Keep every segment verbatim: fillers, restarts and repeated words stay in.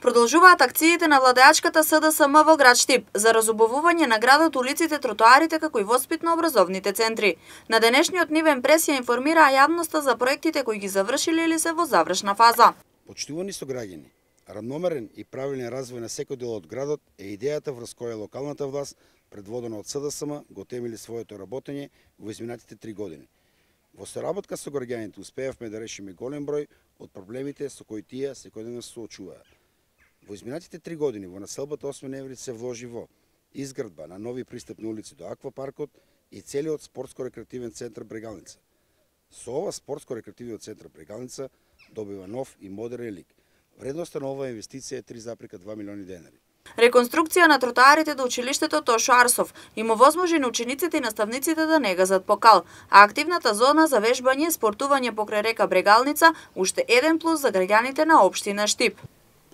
Продолжуваат акциите на владеачката С Д С М во град Штип за разубавување на градот, улиците, тротоарите како и воспитно-образовните центри. На денешниот нивен прес ја информираа јавноста за проектите кои ги завршиле или се во завршна фаза. Почитувани сограѓани, равномерен и правилен развој на секој дел од градот е идејата врз која локалната власт, предводена од С Д С М, го темели своето работење во изминатите три години. Во соработка со граѓаните успеавме да решиме голем број од проблемите со кои тие секојдневно се соочуваат. Во изминатите три години во населбата осми ноември се вложи во изградба на нови пристапни улици до аквапаркот и целиот спортско-рекреативен центар Брегалница. Со ова спортско-рекреативниот центар Брегалница добива нов и модерен лик. Вредноста на оваа инвестиција е три запирка два милиони денари. Реконструкција на тротоарите до училиштето Тошо Арсов им овозможи на учениците и наставниците да не газат по кал, а активната зона за вежбање и спортување покрај река Брегалница уште еден плюс за граѓаните на општина Штип.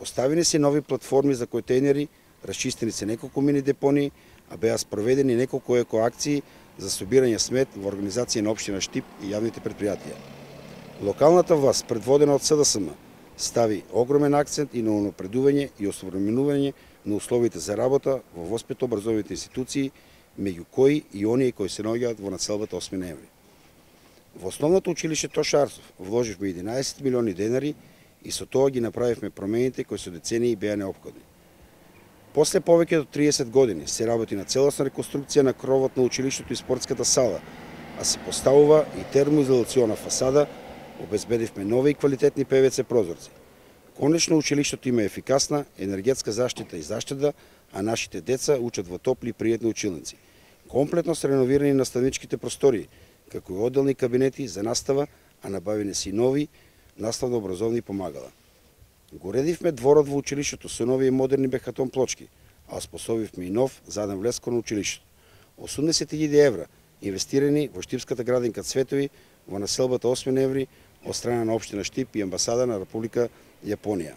Поставени се нови платформи за контејнери, расчистени се неколку мини депонии, а беа спроведени неколку екоакции за собирање смет во организација на општина Штип и јавните предпријатија. Локалната власт, предводена од С Д С М, стави огромен акцент и на унапредување и осовременување на условите за работа во воспитно-образовните институции, меѓу кои и оние кои се наоѓаат во населбата осми ноември. Во основното училиште Тошо Арсов вложивме единаесет милиони денари и со тоа ги направивме промените кои со децении беа неопходни. После повеќе од триесет години се работи на целосна реконструкција на кровот на училиштето и спортската сала, а се поставува и термоизолациона фасада, обезбедивме нови и квалитетни П В Ц прозорци. Конечно училиштето има ефикасна енергетска заштита и заштеда, а нашите деца учат во топли и пријатни училници. Комплетно се реновирани наставничките простории, како и одделни кабинети за настава, а набавени се и нови наставно-образовни помагала. Го редивме дворот во училиштето со нови и модерни бехатон плочки, а оспособивме и нов заден влез кон училиштето. осумдесет илјади евра инвестирани во Штипската градинка Цветови во населбата осми ноември од страна на општина Штип и амбасада на Република Јапонија.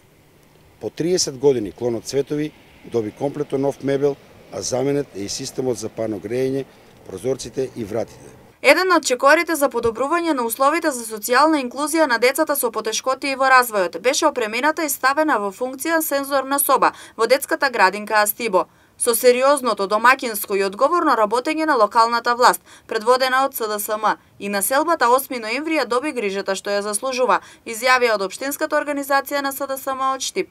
По триесет години клонот Цветови доби комплетно нов мебел, а заменет е и системот за парно грејење, прозорците и вратите. Еден од чекорите за подобрување на условите за социјална инклузија на децата со потешкоти во развојот беше опремената и ставена во функција сензорна соба во детската градинка Астибо. Со сериозното, домаќинско и одговорно работење на локалната власт, предводена од С Д С М, и населбата осми ноември ја доби грижата што ја заслужува, изјавија од општинската организација на С Д С М од Штип.